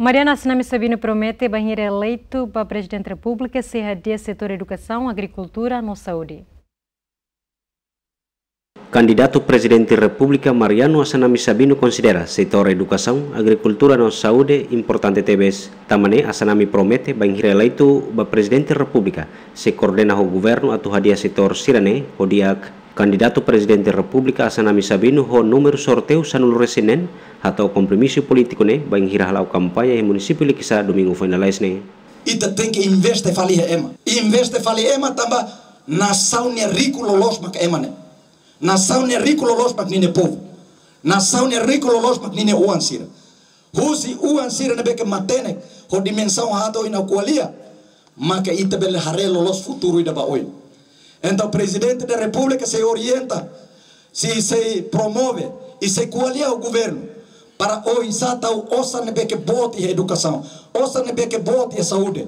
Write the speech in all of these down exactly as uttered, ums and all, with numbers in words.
Mariano Assanami Sabino promete bainhira eleitu ba Prezidente Repúblika sei hadi'a setór edukasaun, agrikultura no saúde. Kandidatu Prezidente Repúblika Mariano Assanami Sabino konsidera setór edukasaun, agrikultura no saúde importante tebes. Tanba ne'e Assanami promete bainhira eleitu ba Prezidente Repúblika sei koordena ho governu atu hadi'a setór sira-ne'e ho di'ak. Kandidatu Prezidente Repúblika Assanami Sabino ho númeru sorteiu sanulu-resin-neen hato'o kompromisu polítiku ne'e bainhira hala'o kampaña iha munisípiu Likisá domingu foin lalais ne'e. Ita tenke investe fali iha ema. Investe fali ema tanba nasaun nia riku loloos mak ema ne'e. Nasaun nia riku loloos mak ninia povu. Nasaun nia riku loloos mak ninia oan sira. Husi oan sira ne'ebé ke matenek ho dimensaun haat ohin ha'u ko'alia, maka ita bele haree loloos futuru ida ba oin. Entaun Prezidente da Repúblika sei orienta, sei, sei promove, i sei ko'alia ho governu para oinsá tau osan ne'ebé ke boot iha edukasaun, osan ne'ebé ke boot iha saúde.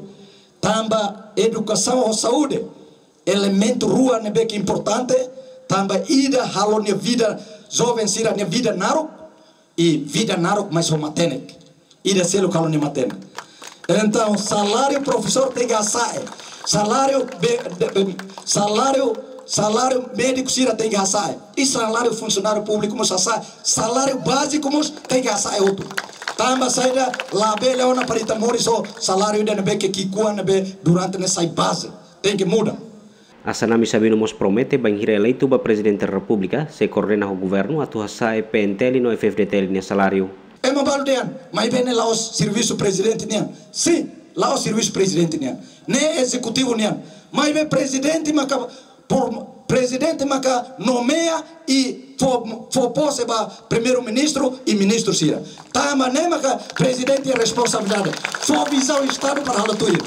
Tanba edukasaun ho saúde elementu rua ne'ebé ke importante, tanba ida halo nia vida, joven sira-nia vida naruk, i vida naruk mais ho matenek. Ida seluk halo nia matenek. Entaun, saláriu profesór tenke hasa'e. Saláriu be-, de-, be-, saláriu, saláriu médiku sira tenke hasa'e. I saláriu funsionáriu públiku mós hasa'e. Saláriu báziku mós tenke hasa'e hotu. Tanba saida labele ona para ita moris ho saláriu ida ne'ebé ke ki'ikoan ne'ebé durante ne'e sai baze. Tenke muda. Assanami Sabino mós promete bainhira eleitu ba Prezidente Repúblika sei koordena ho governu atu hasa'e P N T L no F F D T L nia saláriu. Ema balu dehan, maibé ne'e la'ós servisu prezidente nian. Sin, la'ós servisu prezidente nian. Ne'e ezekutivu nian. Maibé prezidente maka, por, prezidente maka nomeia i fó, fó pose ba primeiru-ministru i ministru sira. Tanba ne'e maka prezidente iha responsabilidade. Fó vizaun estadu para halo tuir.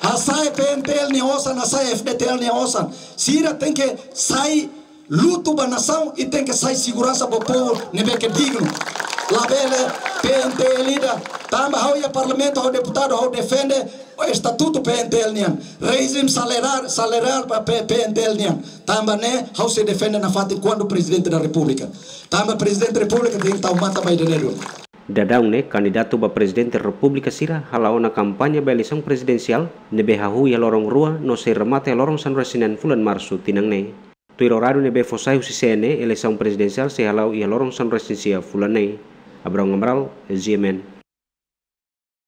Hasa'e P N T L nia osan, hasa'e F D T L nia osan. Sira tenke sai lutu ba nasaun i tenke sai seguransa ba povu ne'ebé ke dignu. Labele P N T L ida. Tanba ha'u iha parlamentu, ha'u deputadu, ha'u defende estatutu P N T L nian. Rejime salariál, salariál ba P-, P N T L nian. Tanba ne'e ha'u sei defende nafatin kuandu Prezidente da Repúblika. Tanba Prezidente Repúblika tenke tau matan ba ida-ne'e duni. Daudaun ne'e, kandidatu ba Prezidente Repúblika sira hala'o ona kampaña ba eleisaun prezidensiál ne'ebé hahú iha loron rua no sei remata iha loron sanulu-resin-neen fulan Marsu tinan ne'e. Tuir oráriu ne'ebé fó sai husi C N E, eleisaun prezidensiál sei hala'o iha loron sanulu-resin-sia fulan ne'e. Abrão Amaral, G M N.